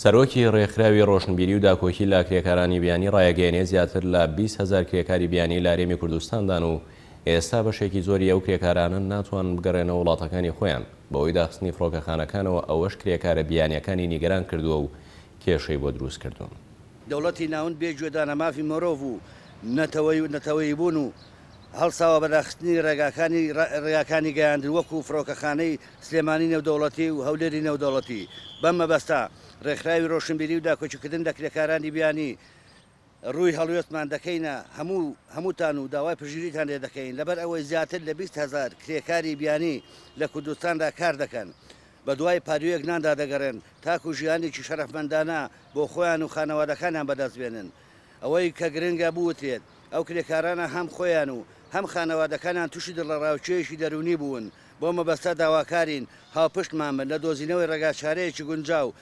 سەرۆکی ڕێکخراوی ڕۆشنبیری و داکۆکی لە کرێکارانی بیانی ڕایەگەیەنێ زیاتر لە 20 هەزار کرێکاری بیانی لە هەرێمی کوردستاندان و ئێستا بەشێکی زۆری ئەو کرێکارانە ناتوانن بگەڕێنەوە وڵاتەکانی خۆیان بەهۆی داخستنی فڕۆکەخانەکانەوە، ئەوەش کرێکارە بیانیەکانی نیگەران کردووە و کێشەی بۆ دروست کردوون. دەوڵەتی ناوەند بێ گوێدانە مافی مۆرۆڤ و نەتەوەی و نەتەوەیی بوون و هەڵساوە بە داخستنی ڕێگاکانی ڕێگاکانی گەیاندن وەکوو فڕۆکەخانەی سلێمانی نێودەوڵەتی و هەولێری نێودەوڵەتی. بەم مەبەستە ڕێکخراوی ڕۆشنبیری و داکۆکیکردن لە کرێکارانی بیانی ڕووی هەڵوێستمان دەکەینە هەموو هەمووتان و داوای پشتگیریتان لێ دەکەین لەبەر ئەوەی زیاتر لە 20 هەزار کرێکاری بیانی لە کوردستاندا کار دەکەن بە دوای پاروویەک ناندا دەگەڕێن تاکو ژیانێکی شەرەفمەندانە بۆ خۆیان و خانەوادەکانیان بەدەست بێنن. ئەوەی کە گرنگە بوترێت ئەو کرێکارانە هەم خۆیان و هەم خانەوادەکانیان تووشی دڵەڕاوکێیەکی دەروونی بوون، بەو مەبەستە داواکارین هاوپشتمان بن لە دۆزینەوەی ڕێگاچارەیەکی گونجاو.